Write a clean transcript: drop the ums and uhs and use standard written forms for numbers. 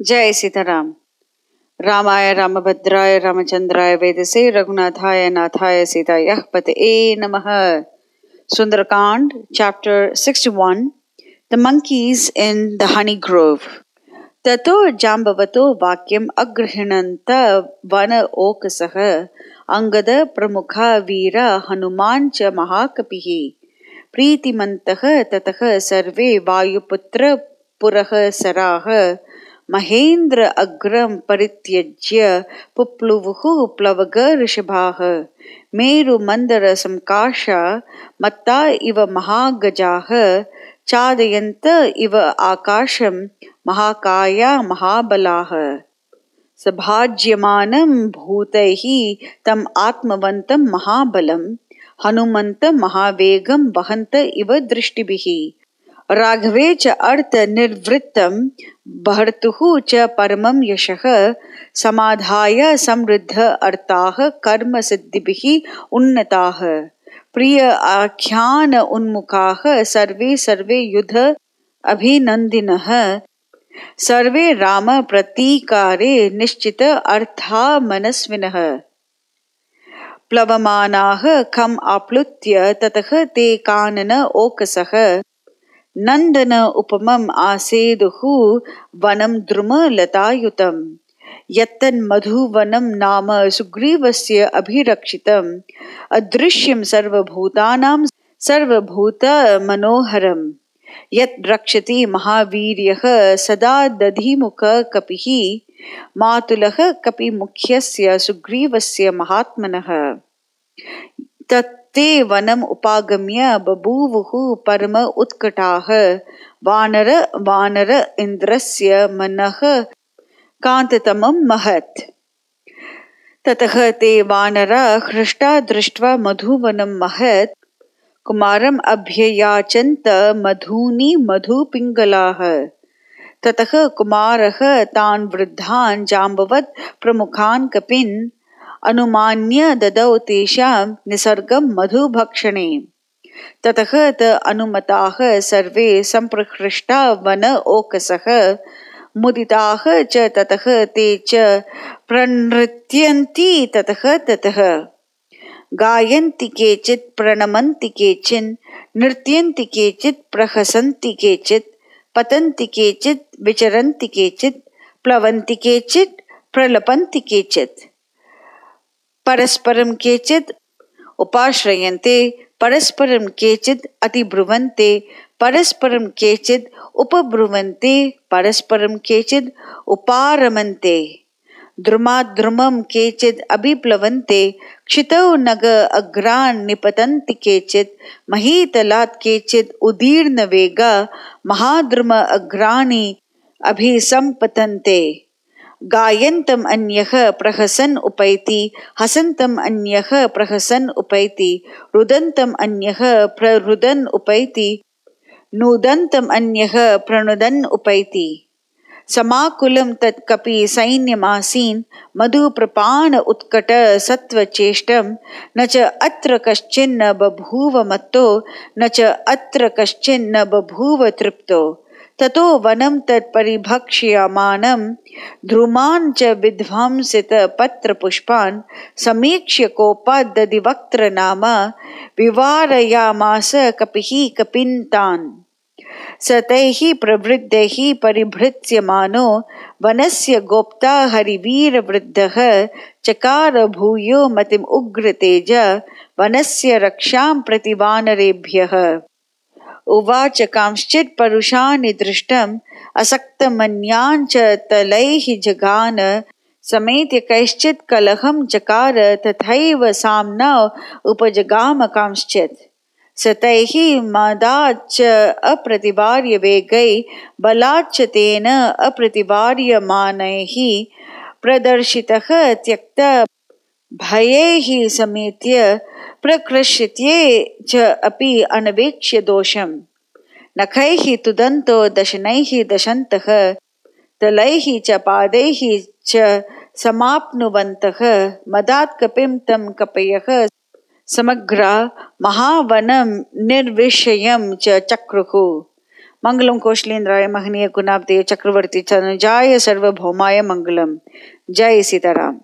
जय सीताराम। रामाय रामभद्राय रामचंद्राय वेदसे रघुनाथाय नाथाय सीतायः पतये नमः। Sundarakand, chapter 61, The Monkeys in the Honey Grove. Tato jambavato vakyam agrihinanta vana okasah angada pramukha veera hanumancha mahakapihi प्रीतिमन्तः ततः सर्वे वायुपुत्र पुरः सराः महेन्द्र अग्रं परित्यज्य पुप्लुवुः प्लवग ऋषभाः मेरुमन्दरसंकाशा मत्ता इव महागजाः चादयन्त इव आकाशं महाकाया महाबलाः सभाज्यमानं भूतैः तम् आत्मवन्तं महाबलं हनुमन्त महावेगं वहन्त इव दृष्टिभिः राघवे च अर्थ निर्वृत्तं बहर्तुः च परमं यशः समाधाय समृद्ध अर्थाः कर्म सिद्धिभिः उन्नताः प्रिय आख्यान उन्मुखाः सर्वे युध अभिनन्दिनः सर्वे राम प्रतीकारे निश्चित अर्था मनस्विनः प्लवमानाः खम् आप्लुत्य ततः ते कानन ओकसः नन्दन उपमम् आसेदुः वनं द्रुम लतायुतम् यत्तन्मधुवनं नाम सुग्रीवस्य अभिरक्षितम् अदृश्यं सर्वभूतानां सर्वभूत मनोहरम् यत् रक्षति महावीर्यः सदा दधिमुख कपिः मातुलः कपिमुख्यस्य सुग्रीवस्य महात्मनः तत्ते वनम् उपागम्य बभूवुः परम उत्कटाः वानर इन्द्रस्य मनः कान्ततमं महत् ततः ते वानरा हृष्टा दृष्ट्वा मधुवनं महत् कुमारम् अभ्ययाचन्त मधूनि मधुपिङ्गलाः ततः कुमारः तान् वृद्धान् जाम्बवत् प्रमुखान् कपिन् अनुमान्य ददौ तेषां निसर्गं मधुभक्षणे ततः त अनुमताः सर्वे सम्प्रहृष्टा वन ओकसः मुदिताः च ततः ते च प्रनृत्यन्ति ततः गायन्ति केचित् प्रणमन्ति केचिन् नृत्यन्ति केचित् प्रहसन्ति केचित् पतन्ति केचित् विचरन्ति केचित् प्लवन्ति केचित् प्रलपन्ति केचित् परस्परं केचित् उपाश्रयन्ते परस्परं केचित् अतिब्रुवन्ते परस्परं केचित् उपब्रुवन्ते परस्परं केचित् उपारमन्ते द्रुमाद्रुमं केचित् अभिप्लवन्ते क्षितौ नग अग्रान् निपतन्ति केचित् महीतलात् केचित् उदीर्णवेगा महाद्रुम अग्राणि अभिसम्पतन्ते गायन्तम् अन्यः प्रहसन् उपैति हसन्तम् अन्यः प्रहसन् उपैति रुदन्तम् अन्यः प्ररुदन् उपैति नूदन्तम् अन्यः प्रणुदन् उपैति समाकुलं तत् कपि सैन्यमासीन् मधुप्रपाण उत्कट सत्वचेष्टं न च अत्र कश्चिन्न बभूव मत्तो न च अत्र कश्चिन्न बभूव तृप्तो ततो वनं तत् परिभक्ष्यमानं ध्रुमान् च विध्वंसित पत्रपुष्पान् समीक्ष्य कोपात् दधिवक्त्र नाम विवारयामास कपिः कपिन्तान् स तैः प्रवृद्धैः परिभृत्स्यमानो वनस्य गोप्ता हरिवीरवृद्धः चकार भूयो मतिम् उग्रतेज वनस्य रक्षां प्रति वानरेभ्यः उवाच कांश्चित् परुषाणि दृष्टम् असक्तमन्यान् च तलैः जगान समेत्य कैश्चित् कलहं चकार तथैव साम्ना उपजगाम कांश्चित् स तैः मदाच्च अप्रतिवार्य वेगै बलाच्च तेन अप्रतिवार्यमानैः प्रदर्शितः त्यक्त भयैः समेत्य प्रकृष्यत्ये च अपि अनवेक्ष्य दोषम् नखैः तुदन्तो दशनैः दशन्तः तलैः च पादैः च समाप्नुवन्तः मदात् कपिं तं कपयः समग्रा महावनं निर्विषयं च चक्रुः मंगलम कौशलेंद्राय महनीय गुणाब्दे चक्रवर्ती तनुजाय सर्वभौमाय मंगलम। जय सीताराम।